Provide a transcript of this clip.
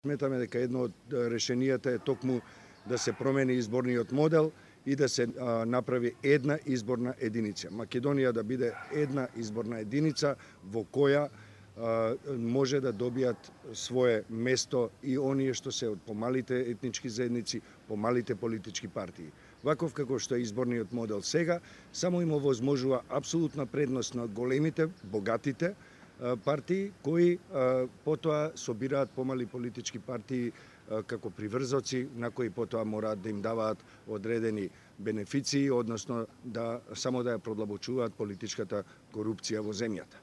Сметаме дека едно од решенијата е токму да се промени изборниот модел и да се направи една изборна единица. Македонија да биде една изборна единица во која може да добијат свое место и оние што се од помалите етнички заедници, помалите политички партии. Ваков како што е изборниот модел сега, само им овозможува апсолутна предност на големите, богатите партии кои потоа собираат помали политички партии како приврзоци на кои потоа мораат да им даваат одредени бенефиции, односно само да ја продлабочуваат политичката корупција во земјата.